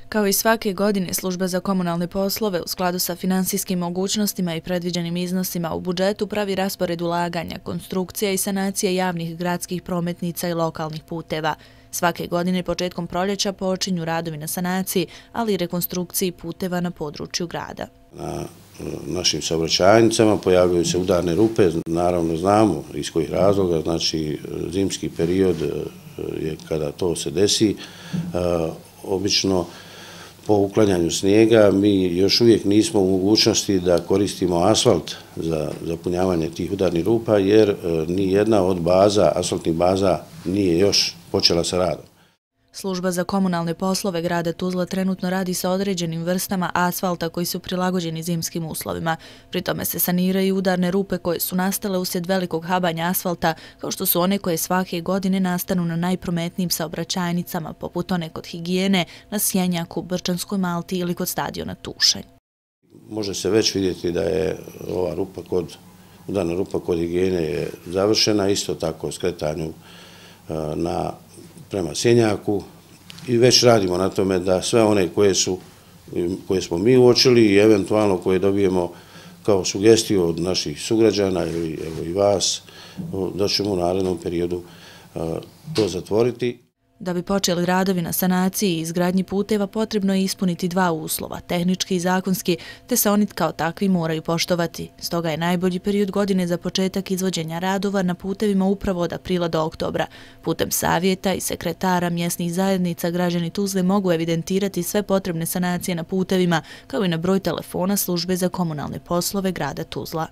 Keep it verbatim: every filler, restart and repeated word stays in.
Kao i svake godine, Služba za komunalne poslove u skladu sa finansijskim mogućnostima i predviđenim iznosima u budžetu pravi raspored ulaganja, konstrukcija i sanacije javnih gradskih prometnica i lokalnih puteva. Svake godine početkom proljeća počinju radovi na sanaciji, ali i rekonstrukciji puteva na području grada. Na našim saobraćajnicama pojavljaju se udarne rupe, naravno znamo iz kojih razloga, znači zimski period je kada to se desi. Obično po uklanjanju snijega mi još uvijek nismo u mogućnosti da koristimo asfalt za zapunjavanje tih udarnih rupa jer ni jedna od baza, asfaltnih baza nije još počela sa radom. Služba za komunalne poslove grada Tuzla trenutno radi sa određenim vrstama asfalta koji su prilagođeni zimskim uslovima. Pri tome se saniraju udarne rupe koje su nastale uslijed velikog habanja asfalta, kao što su one koje svake godine nastanu na najprometnijim saobraćajnicama, poput one kod Higijene, na Sjenjaku, Brčanskoj Malti ili kod stadiona Tušanj. Može se već vidjeti da je ova rupa kod, udarna rupa kod Higijene je završena, isto tako skretanju na prema Sjenjaku i već radimo na tome da sve one koje su, koje smo mi uočili i eventualno koje dobijemo kao sugestiju od naših sugrađana ili evo i vas, da ćemo u narednom periodu to zatvoriti. Da bi počeli radovi na sanaciji i izgradnji puteva, potrebno je ispuniti dva uslova, tehnički i zakonski, te se oni kao takvi moraju poštovati. Stoga je najbolji period godine za početak izvođenja radova na putevima upravo od aprila do oktobra. Putem savjeta i sekretara mjesnih zajednica građani Tuzle mogu evidentirati sve potrebne sanacije na putevima, kao i na broj telefona Službe za komunalne poslove grada Tuzla.